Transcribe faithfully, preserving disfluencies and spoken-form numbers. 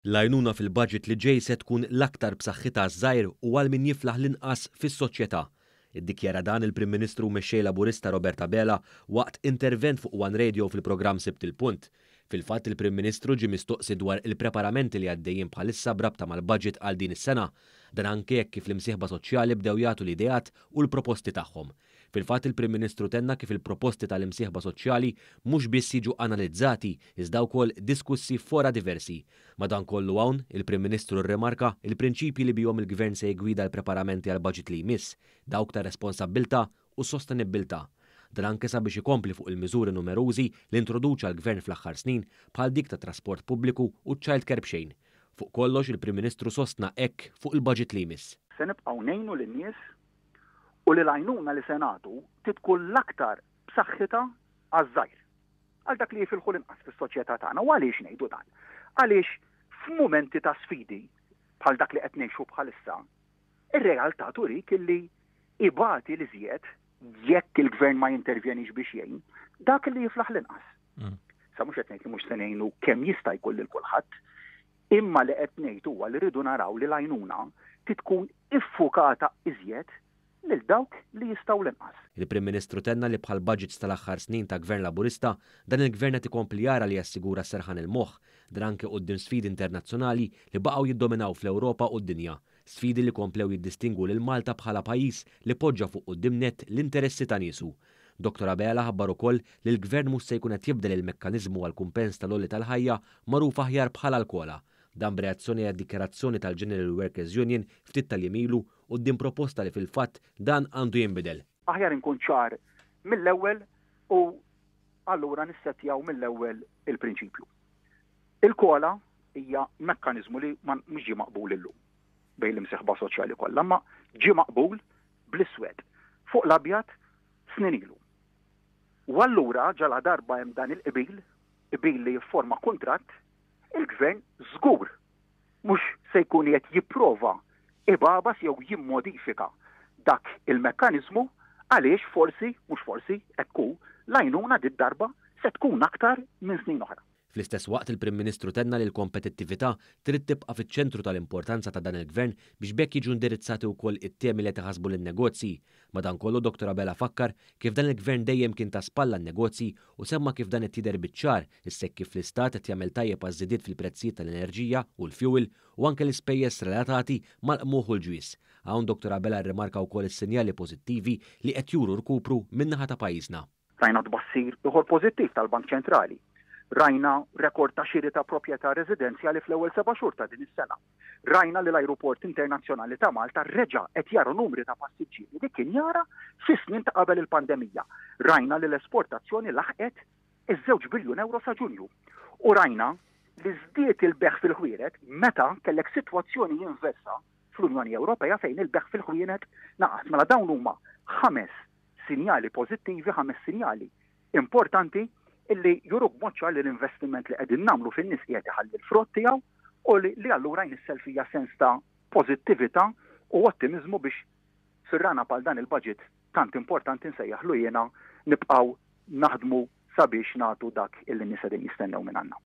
L-għajnuna fil-budget li ġej se tkun l-aktar b'saħħitha għaż-żgħir u għal min jiflaħ l-inqas fis-soċjetà. Iddikjara dan il-Prim Ministru u Mexxej Laburista Robert Abela waqt intervent fuq One Radio fil-programm Sibt il-Punt. Fil-fatt, il-Prim Ministru ġie mistoqsi dwar il-preparamenti li għaddejjin bħalissa b'rabta mal-budget għal din is-sena. Dan anke jekk kif l-imsieħba soċjali bdew jagħtu l-ideat u l-proposti tagħhom. Fil-fatt, il-Prim Ministru tenna kif il-proposti tal-imsieħba soċjali mhux biss jiġu analizzati iżda wkoll diskussi fora diversi. Madankollu hawn, il-Prim Ministru rrimarka il-prinċipji li bihom il-Gvern se jgwida l-preparamenti għal budget li jmiss, dawk ta' responsabbiltà u sostenibbiltà. Dan anke sabiex ikompli fuq il-miżuri numerużi li introduċa l-Gvern fl-aħħar snin, bħal dik ta' trasport pubbliku u childcare b'xejn. Fuq kollox, il-Prim Ministru sostna hekk fuq il-budget li jmiss. Se nibqgħu ngħinu lin-nies u li l-għajnuna li se nagħtu tkun l-aktar b'saħħitha għaż-żgħir, għal dak li jifilħu l-inqas fis-soċjetà tagħna. U għaliex ngħidu dan? Għaliex f'mumenti ta' sfidi bħal dak li qed ngħixu bħalissa, ir-realtà turik illi ibati l-iżjed, jekk il-gvern ma jintervjenix biex jgħin, dak li jiflaħ l-inqas. Mm. Sa mhux qed ngħid li mhux se ngħinu kemm jista' jkun lil kulħadd, imma li qed ngħid huwa li rridu naraw li l-għajnuna tkun iffukata iżjed lil dawk li jistgħu l-inqas. Il-Prim Ministru tenna li bħal budgets tal-aħħar snin ta' Gvern Laburista, dan il-Gvern qed ikompli jara li jassigura serħan il-moħħ, dan anke quddiem sfidi internazzjonali li baqgħu jiddominaw fl-Ewropa u d-dinja. Sfidi li komplew jiddistingwu lil Malta bħala pajjiż li poġġa fuq quddiem net l-interessi ta' niesu. Doktor Abela ħabbar ukoll li l-Gvern mhux se jkun qed jibdel il-mekkaniżmu għal kumpens tal-għoli tal-ħajja, magħruf aħjar bħala l-COLA. Dan b'reazzjoni għad dikjarazzjoni tal-General Workers Union ftit tal-jiem ilu quddiem proposta li fil-fatt dan għandu jinbidel. Aħjar inkun ċar mill-ewwel u allura nissettjaw mill-ewwel il-prinċipju. Il-COLA hija mekkaniżmu li mhux ġie maqbul illum bejn l-imsieħba soċjali kollha, ma ġie maqbul bl-iswed fuq l-abjad snin ilu. U allura ġala darba hemm dan il-qbil, qbil li jifforma kuntratt, il-gvern żgur mhux se jkun qed jipprova ibabas jew jimmodifika dak il-mekkaniżmu, għaliex forsi, mhux forsi, ekku, l-għajnuna did-darba se tkun aktar minn snin oħra. Fl-istess waqt, il-Prim Ministru tenna li l-kompetittività trid tibqa' fiċ-ċentru tal-importanza ta' dan il-Gvern biex b'hekk jiġu indirizzati wkoll it-temi li taħasbu lin-negozji. Madankollu, Doktor Abela fakkar kif dan il-Gvern dejjem kien ta' spalla n-negozji u semma kif dan qed jidher biċ-ċar issa kif l-Istat qed jagħmel tajjeb għaż-żidiet fil-prezzijiet tal-enerġija u l-fuel u anke l-ispejjeż relatati mal-qmuħ u l-ġwież. Hawn Doktor Abela rrimarka wkoll is-sinjali pożittivi li qed juru rkupru min-naħa ta' pajjiżna. Rajna tbassir ieħor pożittiv tal-Bank Ċentrali. Rajna rekord ta' xiri ta' proprjetà residenzjali fl-ewwel seba' xhur ta' din is-sena. Rajna li l-Ajruport Internazzjonali ta' Malta reġa' qed jara numri ta' passiġġieri li kien jara fis-snin ta' qabel il-pandemija. Rajna li l-esportazzjoni laħqet iż-żewġ biljun euro sa Ġunju. U rajna li żdied il-bejgħ fil-ħwienet meta kellek sitwazzjoni inversa fl-Unjoni Ewropea fejn il-bejgħ fil-ħwienet naqas. Mela dawn huma ħames sinjali pożittivi, ħames sinjali importanti illi juruk b'mod ċar li l-investiment li qegħdin nagħmlu fin-nies qiegħed iħalli l-frott tiegħu u li, li allura jnissel fija sens ta' pożittività u ottimizmu biex fir-rana pal dan il-budget tant importanti nsejjaħlu jiena nibqgħu naħdmu sabiex nagħtu dak illi nies qegħdin jistennew minn għandna.